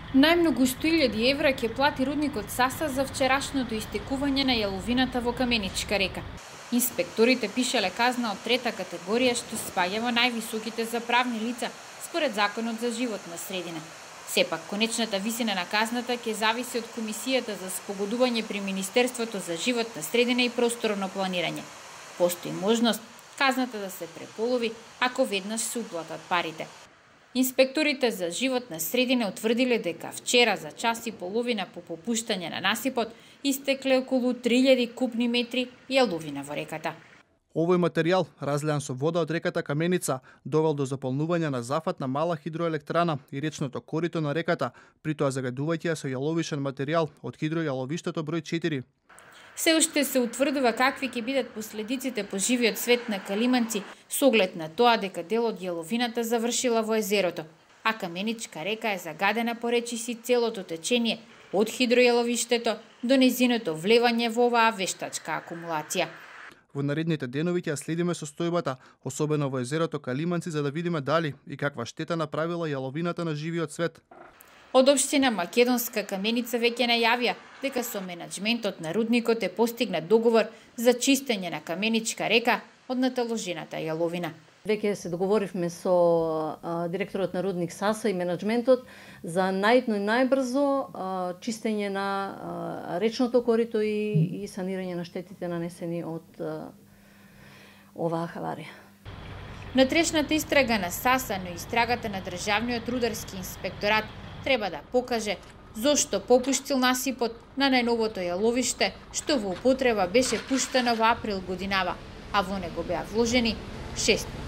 Најмногу 100.000 евра ќе плати рудникот Саса за вчерашното истекување на јаловината во Каменичка река. Инспекторите пишале казна од трета категорија што спаѓа во највисоките за правни лица според Законот за животна средина. Сепак, конечната висина на казната ќе зависи од Комисијата за спогодување при Министерството за животна средина и просторно планирање. Постои можност казната да се преполови ако веднаш се уплатат парите. Инспекторите за животна средина утврдиле дека вчера за час и половина по попуштање на насипот истекле околу 3000 кубни метри јаловина во реката. Овој материјал, разлеан со вода од реката Каменица, довел до заполнување на зафат на мала хидроелектрана и речното корито на реката, при тоа загадувајќи ја со јаловишен материјал од хидројаловиштето број 4. Се уште се утврдува какви ќе бидат последиците по живиот свет на калиманци со оглед на тоа дека дел од јаловината завршила во езерото, а Каменичка река е загадена по речиси целото течение од хидројаловиштето до незиното влевање во оваа вештачка акумулација. Во наредните денови ќе следиме состојбата, особено во езерото Калиманци, за да видиме дали и каква штета направила јаловината на живиот свет. Од општина Македонска Каменица веќе најавија дека со менаџментот на рудникот е постигнат договор за чистење на Каменичка река од наталожената јаловина. Веќе се договоривме со директорот на рудник Саса и менаџментот за најдно и најбрзо чистење на речното корито и санирање на штетите нанесени од оваа хаварија. Внатрешната истрага на Саса, но и истрагата на Државниот рударски инспекторат треба да покаже зошто попуштил насипот на најновото јаловиште, што во употреба беше пуштено во април годинава, а во него беа вложени 6